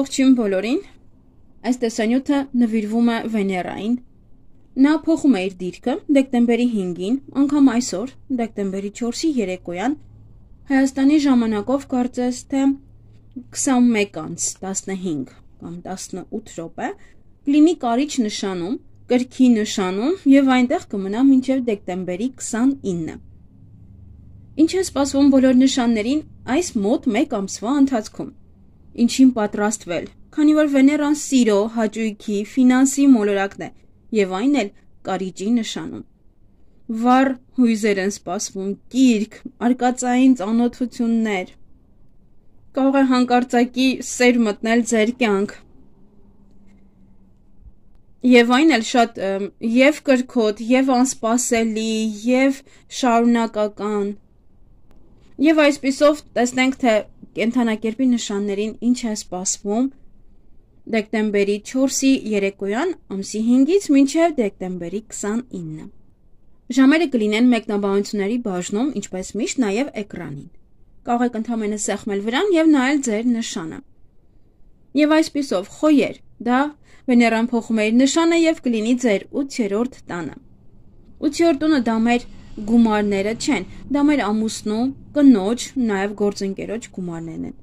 Ողջույն բոլորին, այս տեսանյութը նվիրվում է Վեներային, նա փոխում է իր դիրքը դեկտեմբերի 5-ին, անգամ այսօր, դեկտեմբերի 4-ի երեկոյան, Հայաստանի ժամանակով կարծես թե 21:15 կամ 18 րոպե, կլինի կարիչ նշանում, կրքի նշանում և այնտեղ կմնա մինչև դեկտեմբերի 29-ը։ Ինչ է սպասվում բոլոր նշաններին այս մոտ 1 ամսվա ընթացքում։ Ինչին պատրաստվել, քանի որ Վեներան սիրո, հաճույքի, ֆինանսի մոլորակն է և այն էլ կարիճի նշանում։ Վառ հույզեր են սպասվում, կիրք, արկածային ծանոթություններ, կարող է հանկարծակի սեր մտնել ձեր կյանք, և այն էլ շատ և կրքոտ, և անսպասելի, և շարունակական, և այսպիսով տեսնենք, թե կենդանակերպի նշաններին ինչ է սպասվում դեկտեմբերի 4-ի երեկոյան ամսի 5-ից մինչև դեկտեմբերի 29-ը։ Ժամերը կլինեն մեկնաբանությունների բաժնում, ինչպես միշտ նաև էկրանին։ Կարող եք ընդամենը սեղմել վրան և նայել ձեր նշանը։ Եվ այսպիսով խոյեր, դա Վեներան փոխում է իր նշանը և կլինի ձեր 8-րդ տանը։ 8-րդ տունը դա մեր գումարները չեն, դա մեր ամուսնու, կնոջ, նաև գործընկերոջ գումարներն են։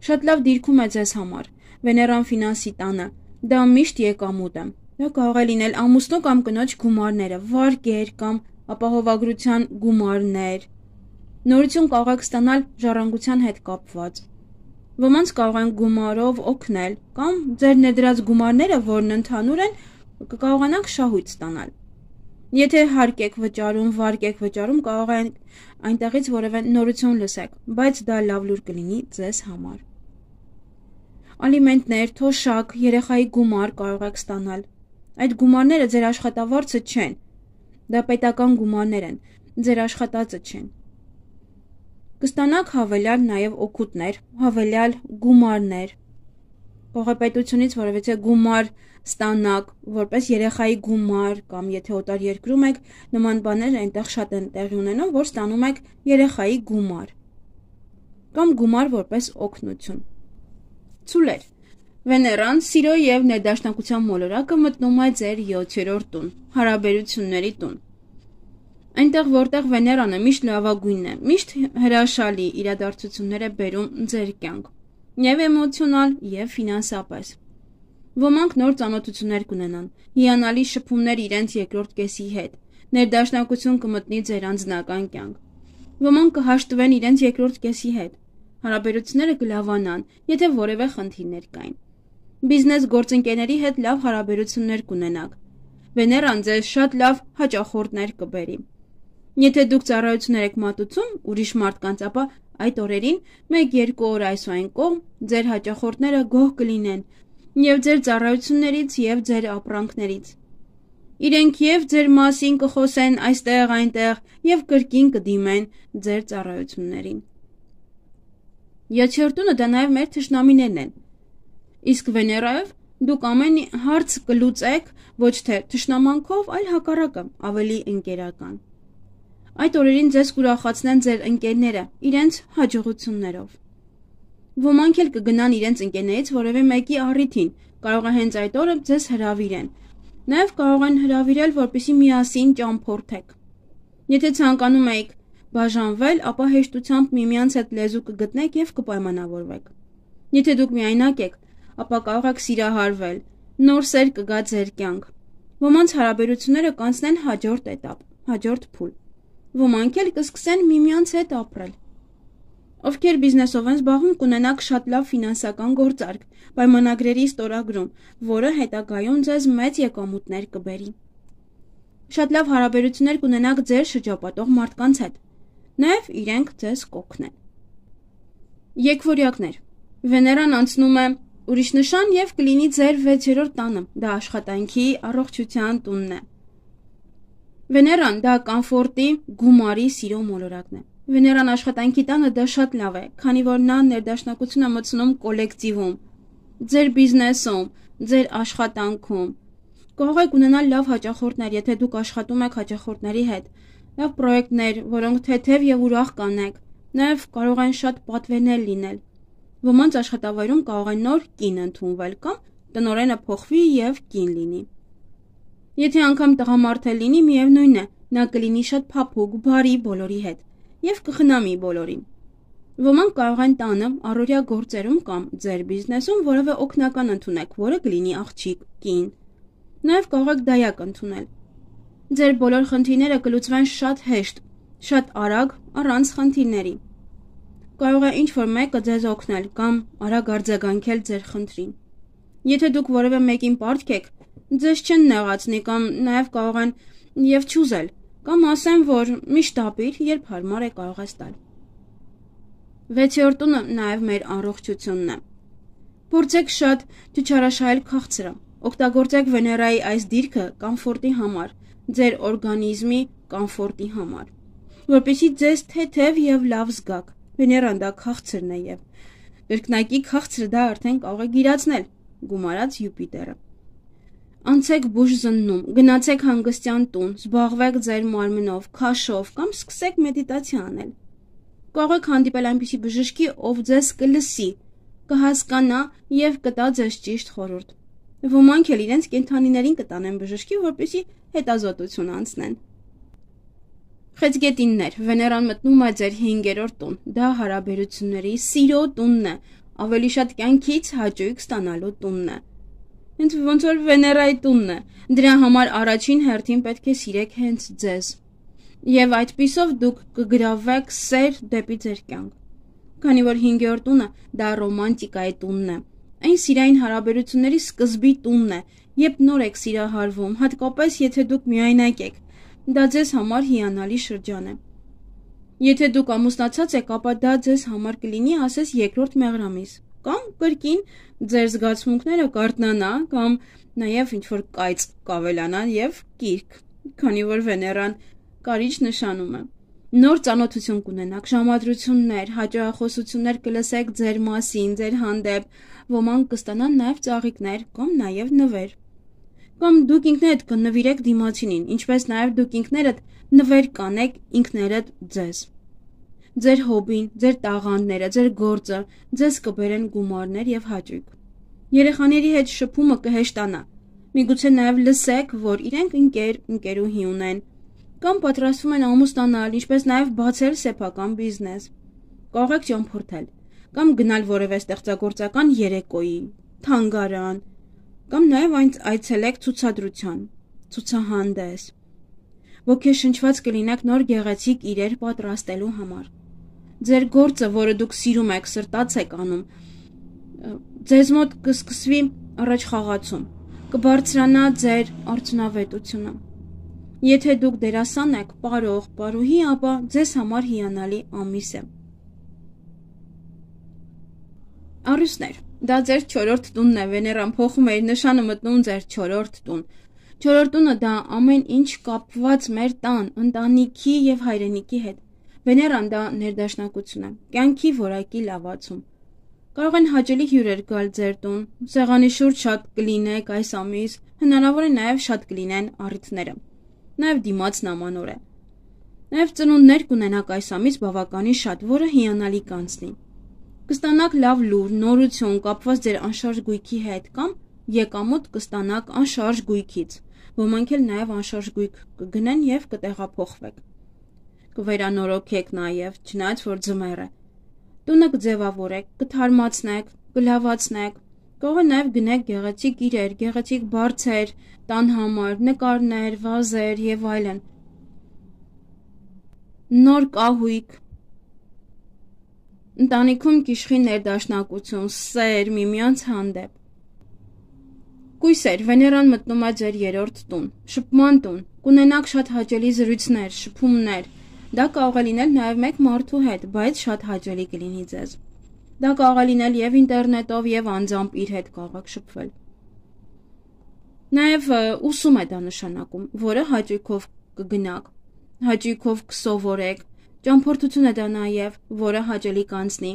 Շատ լավ դիրքում է ձեզ համար, Վեներան ֆինանսի տանը, դա միշտ եկամուտ է, դա կարող է լինել ամուսնու կամ կնոջ գումարները, վարկեր կամ ապահովագրության գումարներ, նորություն կարող եք ստանալ ժառանգության հետ կապված, ոմանց կարող են գումարով օգնել կամ ձեր ներդրած գումարները, որն ընդհանուր են, կկարողանաք շահույթ ստանալ։ Եթե հարկ եք վճարում, վարկ եք վճարում, կարող է այնտեղից որևէ նորություն լսեք, բայց դա լավ լուր կլինի ձեզ համար։ Ալիմենտներ, թոշակ, երեխայի գումար կարող եք ստանալ։ Այդ գումարները ձեր աշխատավարձը չեն, դա պետական գումարներ են, ձեր աշխատածը չեն։ Կստանաք հավելյալ նաև օգուտներ, հավելյալ գումարներ, կարող է պետությունից որևէ գումար ստանաք, որպես երեխայի գումար կամ եթե օտար երկրում եք, նման բաներ այնտեղ շատ են տեղի ունենում, որ ստանում եք երեխայի գումար կամ գումար որպես օգնություն։ Ցուլեր, Վեներան սիրո և ներդաշնակության մոլորակը մտնում է ձեր 7-րդ տուն, հարաբերությունների տուն։ Այնտեղ, որտեղ Վեներանը միշտ լավագույնն է, միշտ հրաշալի իրադարձություններ է բերում ձեր կյանք, և էմոցիոնալ, և ֆինանսապես։ Ոմանք նոր ծանոթություններ կունենան, հիանալի շփումներ իրենց երկրորդ կեսի հետ, ներդաշնակություն կմտնի ձեր անձնական կյանք։ Ոմանք կհաշտվեն իրենց երկրորդ կեսի հետ, հարաբերությունները կլավանան, եթե որևէ խնդիրներ կային։ Բիզնես գործընկերների հետ լավ հարաբերություններ կունենաք։ Վեներան ձեզ շատ լավ հաճախորդներ կբերի։ Եթե դուք ծառայություններ եք մատուցում ուրիշ մարդկանց, ապա այդ օրերին 1-2 օր այս ու այն կողմ ձեր հաճախորդները գոհ կլինեն և ձեր ծառայություններից և ձեր ապրանքներից։ Իրենք և ձեր մասին կխոսեն այստեղ, այնտեղ և կրկին կդիմեն ձեր ծառայություններին։ 7-րդ տունը դա նաև մեր թշնամիներն են։ Իսկ Վեներայով դուք ամեն հարց կլուծեք ոչ թե թշնամանքով, այլ հակառակը, ավելի ընկերական։ Այդ օրերին ձեզ կուրախացնեն ձեր ընկերները իրենց հաջողություններով։ Ոմանք էլ կգնան իրենց ընկերներից որևէ մեկի առիթին, կարող է հենց այդ օրը ձեզ հրավիրեն։ Նաև կարող են հրավիրել, որպեսզի միասին ճամփորդեք։ Եթե ցանկանում եք բաժանվել, ապա հեշտությամբ միմյանց հետ լեզու կգտնեք և կպայմանավորվեք։ Եթե դուք միայնակ եք, ապա կարող եք սիրահարվել, նոր սեր կգա ձեր կյանք։ Ոմանց հարաբերությունները կանցնեն հաջորդ էտապ, հաջորդ փուլ։ Ոմանք էլ կսկսեն միմյանց հետ ապրել։ Ովքեր բիզնեսով են զբաղվում, կունենաք շատ լավ ֆինանսական գործարք, պայմանագրերի ստորագրում, որը հետագայում ձեզ մեծ եկամուտներ կբերի։ Շատ լավ հարաբերություններ կունենաք ձեր շրջապատող մարդկանց հետ, նաև իրենք ձեզ կօգնեն։ Եկվորյակներ, Վեներան անցնում է ուրիշ նշան և կլինի ձեր 6-րդ տանը, դա աշխատանքի, առողջության տունն է։ Վեներան դա կամֆորտի, գումարի, սիրո մոլորակն է։ Վեներան աշխատանքի տանը դա շատ լավ է, քանի որ նա ներդաշնակություն է մտցնում կոլեկտիվում, ձեր բիզնեսում, ձեր աշխատանքում։ Կարող եք ունենալ լավ հաճախորդներ, եթե դուք աշխատում եք հաճախորդների հետ, լավ պրոյեկտներ, որոնք թեթև և ուրախ կանեք, նաև կարող են շատ պատվերներ լինել։ Ոմանց աշխատավայրում կարող է նոր կին ընդունվել կամ տնօրենը փոխվի եւ կին լինի։ Եթե անգամ տղամարդ է լինի, միևնույն է, նա կլինի շատ փափուկ, բարի բոլորի հետ եւ կխնամի բոլորին։ Ոմանք կարող են տանը, առօրյա գործերում կամ ձեր բիզնեսում որևէ օգնական ընդունեք, որը կլինի աղջիկ, կին։ Նաեւ կարող եք դայակ ընդունել։ Ձեր բոլոր խնդիրները կլուծվեն շատ հեշտ, շատ արագ, առանց խնդիրների։ Կարող է ինչ-որ մեկը ձեզ օգնել կամ արագ արձագանքել ձեր խնդրին։ Եթե դուք որևէ մեկին պարտք եք, ձեզ չեն նեղացնի կամ նաև կարող են եւ չուզել, կամ ասեն, որ միշտ ապիր, երբ հարմար է կարող ես տալ։ 6-րդ տունը նաև մեր առողջությունն է։ Փորձեք շատ չչարաշահել քաղցրը։ Օգտագործեք Վեներայի այս դիրքը կոմֆորտի համար, ձեր օրգանիզմի կոմֆորտի համար, որպեսզի ձեզ թեթև եւ լավ զգաք։ Վեներան դա քաղցրն է եւ կրկնակի քաղցրը դա արդեն կարող է գիրացնել, գումարած Յուպիտերը։ Անցեք բուժ զննում, գնացեք հանգստյան տուն, զբաղվեք ձեր մարմնով, քաշով կամ սկսեք մեդիտացիա անել։ Կարող եք հանդիպել այնպիսի բժշկի, ով ձեզ կլսի, կհասկանա եւ կտա ձեզ ճիշտ խորհուրդ։ Ոմանք էլ իրենց կենդանիներին կտանեն բժշկի, որպեսզի հետազոտություն անցնեն։ Խեցգետիններ, Վեներան մտնում է ձեր 5-րդ տուն։ Դա հարաբերությունների, սիրո տունն է, ավելի շատ կյանքից հաճույք ստանալու տունն է։ Հենց ոնց որ Վեներայի տունն է։ Դրա համար առաջին հերթին պետք է սիրեք հենց ձեզ։ Եվ այդպիսով դուք կգրավվեք սեր դեպի ձեր կյանք։ Քանի որ 5-րդ տունը դա ռոմանտիկայի տունն է։ Այն սիրային հարաբերությունների սկզբի տունն է, երբ նոր եք սիրահարվում, հատկապես եթե դուք միայնակ եք։ Դա ձեզ համար հիանալի շրջան է։ Եթե դուք ամուսնացած եք, ապա դա ձեզ համար կլինի, ասես, երկրորդ մեղրամիս, կամ կրկին ձեր զգացմունքները կարթնանա, կամ նաև ինչ-որ կայծ կավելանա եւ կիրք, քանի որ Վեներան կարիճ նշանում է։ Նոր ծանոթություն կունենաք, ժամադրություններ, հաճախոսություններ կլսեք ձեր մասին, ձեր հանդեպ, ոմանք կստանան նաև ծաղիկներ կամ նաև նվեր։ Կամ դուք ինքներդ կնվիրեք դիմացինին, ինչպես նաև դուք ինքներդ նվեր կանեք ինքներդ ձեզ։ Ձեր հոբին, ձեր տաղանդները, ձեր գործը ձեզ կբերեն գումարներ եւ հաճույք։ Երեխաների հետ շփումը կհեշտանա։ Միգուցե նաև լսեք, որ իրենք ընկերուհի ունեն, կամ պատրաստվում են ամուսնանալ, ինչպես նաև բացել սեփական բիզնես։ Կարող եք ճամփորդել, կամ գնալ որևէ ստեղծագործական երեկոյի, թանգարան, կամ նաև այցելեք ցուցադրության, ցուցահանդես։ Ոգեշնչված կլինեք նոր գեղեցիկ իրեր պատրաստելու համար։ Ձեր գործը, որը դուք սիրում եք, սրտաց եք անում, ձեզ մոտ կսկսվի առաջխաղացում, կբարձրանա ձեր արդյունավետությունը։ Եթե դուք դերասան եք, պարող, պարուհի, ապա ձեզ համար հիանալի ամիս է։ Առյուծներ, դա ձեր 4-րդ տունն է, Վեներան փոխում է իր նշանը, մտնում ձեր 4-րդ տուն։ 4-րդ տունը դա ամեն ինչ կապված մեր տան, ընտանիքի եւ հայրենիքի հետ։ Վեներան դա ներդաշնակություն է, կյանքի որակի լավացում։ Կարող են հաճելի հյուրեր գալ ձեր տուն, սեղանի շուրջ շատ կլինեք այս ամիս, հնարավոր է նաև շատ կլինեն առիթները։ Նաև դիմացն ամանոր է։ Նաև ծնունդներ կունենաք այս ամիս բավականին շատ, որը հիանալի կանցնի։ Կստանաք լավ լուր, նորություն կապված ձեր անշարժ գույքի հետ կամ եկամուտ կստանաք անշարժ գույքից։ Ոմանք էլ նաև անշարժ գույք կգնեն եւ կտեղափոխվեք։ Կվերանորոգեք նաև, չնայած որ ձմեռ է։ Տունը կձևավորեք, կթարմացնեք, կլավացնեք։ Կարող է նաև գնեք գեղեցիկ իրեր, գեղեցիկ բարձեր, տան համար, նկարներ, վազեր եւ այլն։ Նոր կահույք։ Ընտանիքում կիշխի ներդաշնակություն, սեր, միմյանց հանդեպ։ Կույսեր, Վեներան մտնում է ձեր 3-րդ տուն, շփման տուն, կունենաք շատ հաճելի զրույցներ, շփումներ։ Դա կարող է լինել նաև մեկ մարդու հետ, բայց շատ հաճելի կլինի ձեզ։ Դա կարող է լինել եւ ինտերնետով եւ անձամբ իր հետ կարող եք շփվել։ Նաև ուսում է դա նշանակում, որը հաճույքով կգնաք, հաճույքով կսովորեք, ճամփորդություն է դա նաև, որը հաճելի կանցնի։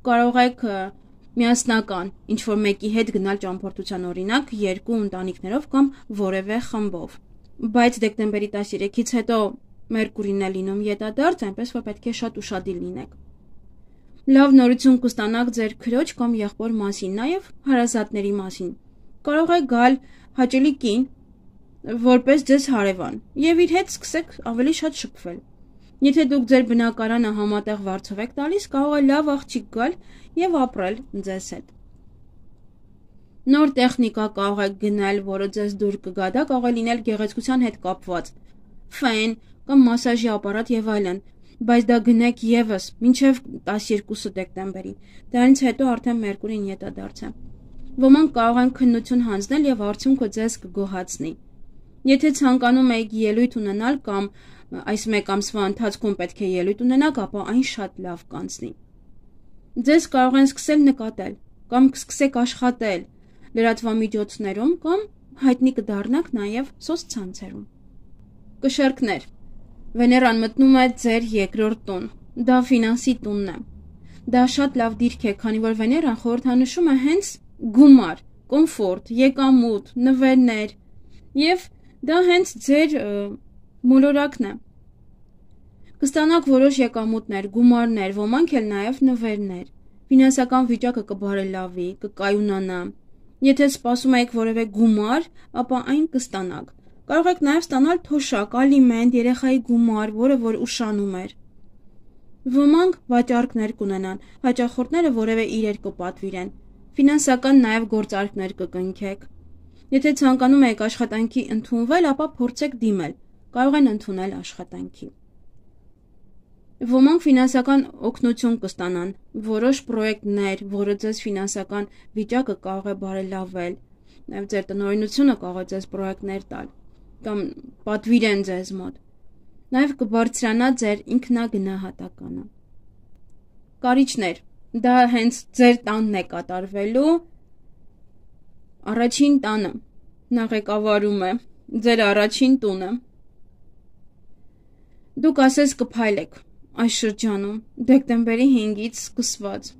Կարող եք միասնական ինչ-որ մեկի հետ գնալ ճամփորդության, օրինակ 2 ընտանիքներով կամ որևէ խմբով։ Բայց դեկտեմբերի 13-ից հետո Մերկուրին է լինում ետադարձ, այնպես որ պետք է շատ ուշադիր լինեք։ Լավ նորություն կստանաք ձեր քրոջ կամ եղբոր մասին, նաև հարազատների մասին։ Կարող է գալ հաճելի կին, որպես ձեզ հարևան, եւ իր հետ սկսեք ավելի շատ շփվել։ Եթե դուք ձեր բնակարանը համատեղ վարձով եք տալիս, կարող է լավ աղջիկ գալ եւ ապրել ձեզ հետ։ Նոր տեխնիկա կարող եք գնել, որը ձեզ դուր կգա, դա կարող է լինել գեղեցկության հետ կապված, ֆեն կամ մասաժի ապարատ եւ այլն, բայց դա գնեք եւս մինչեւ 12 դեկտեմբերի։ Դրանից հետո արդեն Մերկուրին ետադարձ է։ Ոմանք կարող են քննություն հանձնել եւ արդյունքը ձեզ կգոհացնի։ Եթե ցանկանում եք ելույթ ունենալ կամ այս մեկ ամսվա ընթացքում պետք է ելույթ ունենաք, ապա այն շատ լավ կանցնի։ Ձեզ կարող են սկսել նկատել կամ կսկսեք աշխատել լրատվամիջոցներում կամ հայտնի կդառնաք նաև սոցցանցերում։ Կշեռքներ։ Վեներան մտնում է ձեր երկրորդ տուն։ Դա ֆինանսի տունն է։ Դա շատ լավ դիրք է, քանի որ Վեներան խորհրդանշում է հենց գումար, կոմֆորտ, եկամուտ, նվերներ, եւ դա հենց ձեր մոլորակն է։ Կստանաք որոշ եկամուտներ, գումարներ, ոմանք էլ նաև նվերներ։ Ֆինանսական վիճակը կբարելավի, կկայունանա։ Եթե սպասում եք որևէ գումար, ապա այն կստանաք։ Կարող եք նաև ստանալ թոշակ, ալիմենտ, երեխայի գումար, որը որ ուշանում էր։ Ոմանք վաճառքներ կունենան, հաճախորդները որևէ իրեր կպատվիրեն։ Ֆինանսական նաև գործարքներ կկնքեք։ Եթե ցանկանում եք աշխատանքի ընդունվել, ապա փորձեք դիմել։ Կարող են ընդունել աշխատանքի։ Ոմանք ֆինանսական օգնություն կստանան, որոշ պրոյեկտներ, որը ձեզ ֆինանսական վիճակը կարող է բարելավել, նաև ձեր տնօրինությունը կարող է ձեզ պրոյեկտներ տալ կամ պատվիրեն ձեզ մոտ։ Նաև կբարձրանա ձեր ինքնագնահատականը։ Կարիճներ, դա հենց ձեր տանն է կատարվելու, առաջին տանը, նա ղեկավարում է, ձեր առաջին տունը։ Դուք ասես կփայլեք այս շրջանում, դեկտեմբերի 5-ից սկսված։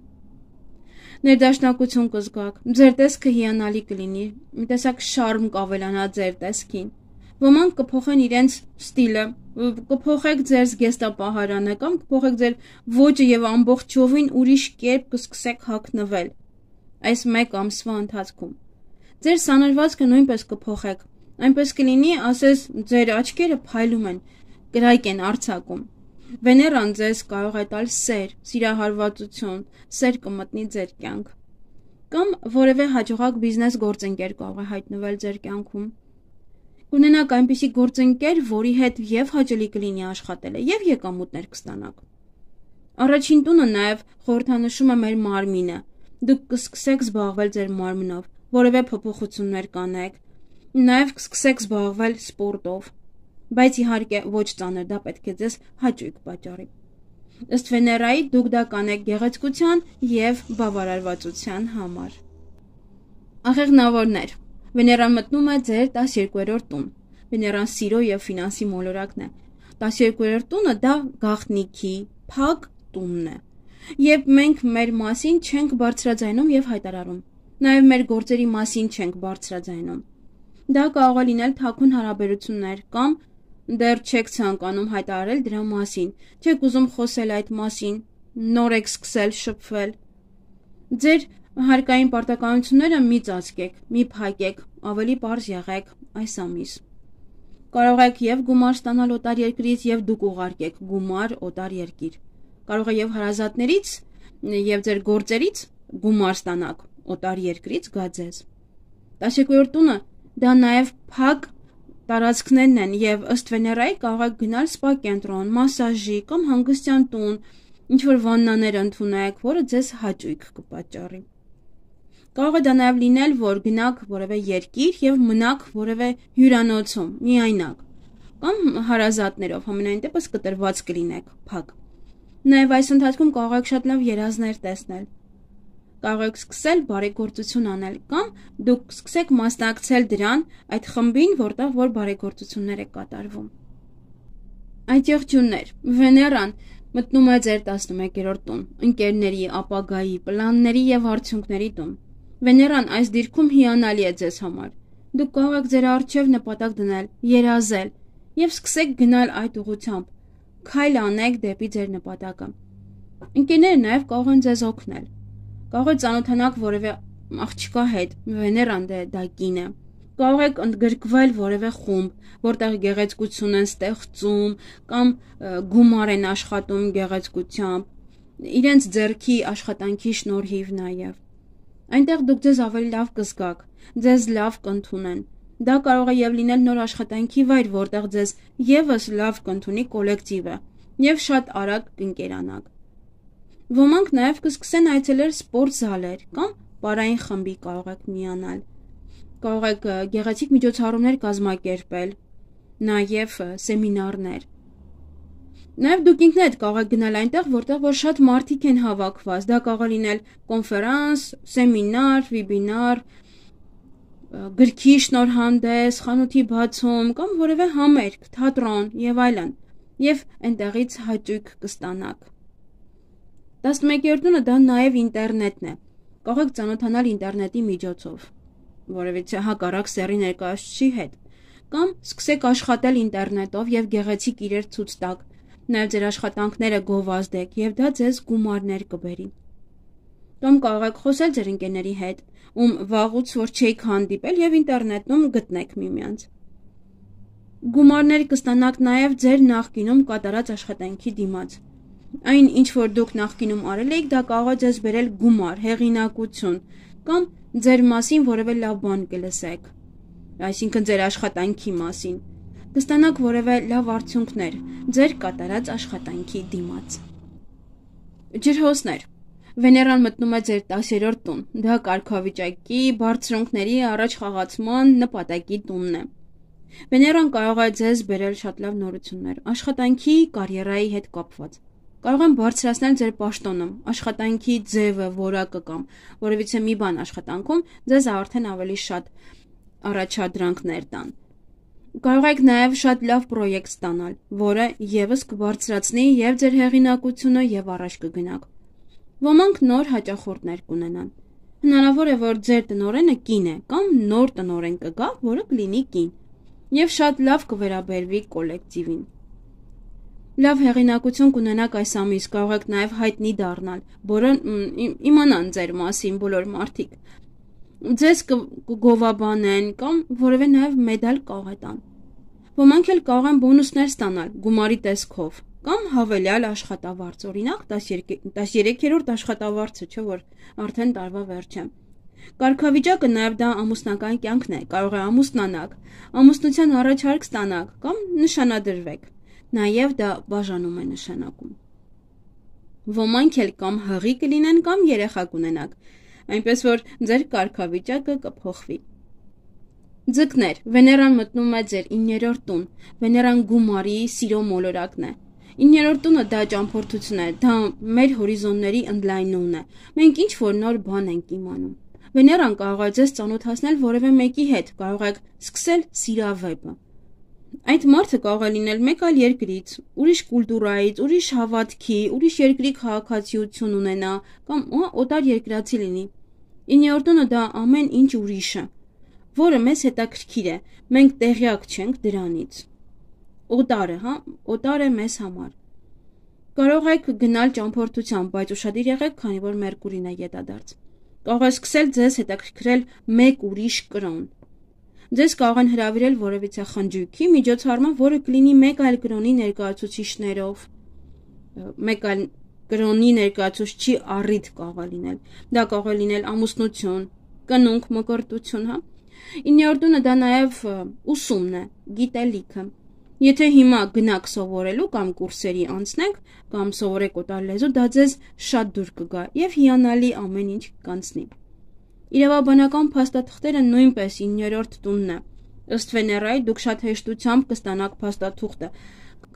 Ներդաշնակություն կզգաք, ձեր տեսքը հիանալի կլինի, մի տեսակ շարմ կավելանա ձեր տեսքին։ Ոմանք կփոխեն իրենց ստիլը, կփոխեք ձեր զգեստապահարանը կամ կփոխեք ձեր ոճը եւ ամբողջովին ուրիշ կերպ կսկսեք հագնվել այս մեկ ամսվա ընթացքում։ Ձեր սանրվածքը նույնպես կփոխեք, այնպես կլինի, ասես ձեր աչքերը փայլում են, կրայք են արձակում։ Վեներան ձեզ կարող է տալ սեր, սիրահարվածություն, սեր կմտնի ձեր կյանք։ Կամ որևէ հաջողակ բիզնես գործընկեր կարող է հայտնվել ձեր կյանքում։ Կունենաք այնպիսի գործընկեր, որի հետ եւ հաճելի կլինի աշխատելը, եւ եկամուտներ կստանաք։ Առաջին տունը նաեւ խորհրդանշում է մեր մարմինը։ Դուք կսկսեք զբաղվել ձեր մարմնով, որևէ փոփոխություններ կանեք, նաեւ կսկսեք զբաղվել սպորտով, բայց իհարկե ոչ ծանր, դա պետք է ձեզ հաճույք պատճառի։ Ըստ Վեներայի դուք դա կանեք գեղեցկության եւ բավարարվածության համար։ Աղեղնավորներ։ Վեներան մտնում է ձեր 12-րդ տուն։ Վեներան սիրո եւ ֆինանսի մոլորակն է։ 12-րդ տունը դա գաղտնիքի, փակ տունն է։ Երբ մենք մեր մասին չենք բարձրաձայնում եւ հայտարարում, նաեւ մեր գործերի մասին չենք բարձրաձայնում։ Դա կարող է լինել թաքուն հարաբերություններ կամ դեռ չեք ցանկանում հայտարարել դրա մասին, չեք ուզում խոսել այդ մասին, նոր եք սկսել շփվել։ Ձեր հարկային պարտականությունները մի ծածկեք, մի փակեք, ավելի պարզ եղեք այս ամիս։ Կարող եք եւ գումար ստանալ օտար երկրից եւ դուք ուղարկեք գումար օտար երկիր։ Կարող է եւ հարազատներից եւ ձեր գործերից գումար ստանաք օտար երկրից գա ձեզ։ 12-րդ տունը դա նաեւ փակ տարածքներն են եւ ըստ Վեներայի կարող եք գնալ սպա կենտրոն, մասաժի կամ հանգստյան տուն, ինչ որ վաննաներ ընդունեք, որը ձեզ հաճույք կպատճառի։ Կարող է դա նաեւ լինել, որ գնաք որևէ երկիր եւ մնաք որևէ հյուրանոցում, միայնակ, կամ հարազատներով, համենայն դեպս կտրված կլինեք, փակ։ Նաեւ այս ընթացքում կարող եք շատ լավ երազներ տեսնել։ Կարող եք սկսել բարեգործություն անել կամ դուք սկսեք մասնակցել դրան այդ խմբին, որտեղ որ բարեգործություններ է կատարվում։ Այդ եղջյուններ, Վեներան մտնում է ձեր 11-րդ տուն, ընկերների, ապագայի, պլանների եւ արդյունքների տուն։ Վեներան այս դիրքում հիանալի է ձեզ համար։ Դուք կարող եք ձեր առջև նպատակ դնել, երազել եւ սկսեք գնալ այդ ուղղությամբ։ Քայլ անեք դեպի ձեր նպատակը։ Ընկերները նաև կարող են ձեզ օգնել։ Կարող եք ծանոթանալ որևէ աղջկա հետ, Վեներան դա կին է։ Կարող եք ընդգրկվել որևէ խումբ, որտեղ գեղեցկություն են ստեղծում կամ գումար են աշխատում գեղեցկությամբ, իրենց ձեռքի աշխատանքի շնորհիվ նաև։ Այնտեղ դուք ձեզ ավելի լավ կզգաք, ձեզ լավ կընդունեն։ Դա կարող է եւ լինել նոր աշխատանքի վայր, որտեղ ձեզ եւս լավ կընդունի կոլեկտիվը եւ շատ արագ կընկերանաք։ Ոմանք նաև կսկսեն այցելել սպորտ զալեր կամ պարային խմբի կարող եք միանալ։ Կարող եք գեղեցիկ միջոցառումներ կազմակերպել, նաև սեմինարներ։ Նաև դուք ինքներդ կարող եք գնալ այնտեղ, որտեղ որ շատ մարդիկ են հավաքված։ Դա կարող է լինել կոնֆերանս, սեմինար, վեբինար, գրքի շնորհանդես, խանութի բացում կամ որևէ համերգ, թատրոն եւ այլն։ Եվ այնտեղից հաճույք կստանաք։ 11-րդը դա նաև ինտերնետն է։ Կարող եք ծանոթանալ ինտերնետի միջոցով, որևիցե հակառակ սեռի ներկայացուցիչի հետ, կամ սկսեք աշխատել ինտերնետով եւ գեղեցիկ իրեր ցույց տաք, նաև ձեր աշխատանքները գովազդեք եւ դա ձեզ գումարներ կբերի։ Կամ կարող եք խոսել ձեր ընկերների հետ, ում վաղուց որ չեք հանդիպել եւ ինտերնետում գտնեք միմյանց։ Գումարներ կստանաք նաև ձեր նախկինում կատարած աշխատանքի դիմաց։ Այն, ինչ որ դուք նախկինում արել եք, դա կարող է ձեզ բերել գումար, հեղինակություն կամ ձեր մասին որևէ լավ բան կլսեք, այսինքն ձեր աշխատանքի մասին, կստանաք որևէ լավ արդյունքներ ձեր կատարած աշխատանքի դիմաց։ Ջրհոսներ։ Վեներան մտնում է ձեր 10-րդ տուն, դա կարգավիճակի, բարձրունքների առաջ խաղացման նպատակի տունն է։ Վեներան կարող է ձեզ բերել շատ լավ նորություններ, աշխատանքի, կարիերայի հետ կապված։ Կարող են բարձրացնել ձեր պաշտոնը, աշխատանքի ձևը, որակը կամ որևիցե մի բան աշխատանքում ձեզ արդեն ավելի շատ առաջադրանքներ տան։ Կարող եք նաև շատ լավ պրոյեկտ ստանալ, որը եւս կբարձրացնի եւ ձեր հեղինակությունը եւ առաջ կգնաք։ Ոմանք նոր հաճախորդներ կունենան։ Հնարավոր է, որ ձեր տնօրենը կին է կամ նոր տնօրեն կգա, որը կլինի կին, եւ շատ լավ կվերաբերվի կոլեկտիվին։ Լավ հեղինակություն կունենաք այս ամիս, կարող եք նաև հայտնի դառնալ, որը իմանան ձեր մասին բոլոր մարդիկ։ Ձեզ կգովաբանեն կամ որևէ նաև մեդալ կարող է տան։ Ոմանք էլ կարող են բոնուսներ ստանալ գումարի տեսքով կամ հավելյալ աշխատավարձ, օրինակ 13-րդ աշխատավարձը, չէ՞ որ արդեն տարվա վերջ է։ Կարգավիճակը նաև դա ամուսնական կյանքն է, կարող է ամուսնանաք, ամուսնության առաջարկ ստանաք կամ նշանադրվեք։ Նաև դա բաժանում է նշանակում։ Ոմանք էլ կամ հղի կլինեն կամ երեխա կունենաք, այնպես որ ձեր կարգավիճակը կփոխվի։ Ձկներ, Վեներան մտնում է ձեր 9-րդ տուն, Վեներան գումարի, սիրո մոլորակն է։ 9-րդ տունը դա ճամփորդություն է, դա մեր հորիզոնների ընդլայնումն է։ Մենք ինչ որ նոր բան ենք իմանում։ Վեներան կարող է ձեզ ծանոթացնել որևէ մեկի հետ, կարող եք սկսել սիրավեպը։ Այդ մարդը կարող է լինել մեկ այլ երկրից, ուրիշ կուլտուրայից, ուրիշ հավատքի, ուրիշ երկրի քաղաքացիություն ունենա կամ օտար երկրացի լինի։ 9-րդ տունը դա ամեն ինչ ուրիշը, որը մեզ հետաքրքիր է, մենք տեղյակ չենք դրանից։ Օտար է մեզ համար։ Կարող եք գնալ ճամփորդության, բայց ուշադիր եղեք, քանի որ Մերկուրին է ետադարձ։ Կարող եք սկսել ձեզ հետաքրքրել մեկ ուրիշ կրոն։ Ձեզ կարող են հրավիրել որևիցե խնջույքի միջոցառման, որը կլինի մեկ այլ կրոնի ներկայացուցիչներով, մեկ այլ կրոնի ներկայացուցչի առիթ կարող է լինել։ Դա կարող է լինել ամուսնություն, կնունք, մկրտություն, 9-րդ տունը դա նաև ուսումն է, գիտելիքը։ Եթե հիմա գնաք սովորելու կամ կուրսերի անցնեք կամ սովորեք օտար լեզու, դա ձեզ շատ դուր կգա եւ հիանալի ամեն ինչ կանցնի։ Իրավաբանական փաստաթղթերը նույնպես 9-րդ տունն է։ Ըստ Վեներայի դուք շատ հեշտությամբ կստանաք փաստաթուղթը,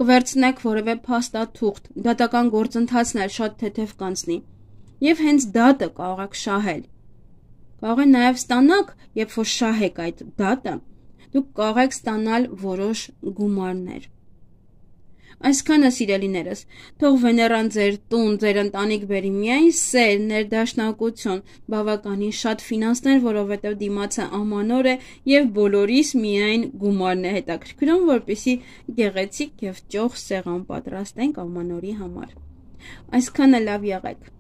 կվերցնեք որևէ փաստաթուղթ, դատական գործընթացն էլ շատ թեթև կանցնի։ Եվ հենց դատը կարող եք շահել։ Կարող է նաև ստանաք, երբ որ շահեք այդ դատը, դուք կարող եք ստանալ որոշ գումարներ։ Այսքանը սիրելիներս, թող Վեներան ձեր տուն, ձեր ընտանիք բերի միայն սեր, ներդաշնակություն, բավականին շատ ֆինանսներ, որովհետև դիմացը ամանոր է եւ բոլորիս միայն գումարն է հետաքրքրում, որպեսզի գեղեցիկ եւ ճոխ սեղան պատրաստենք ամանորի համար։ Այսքանը լավ եղեք։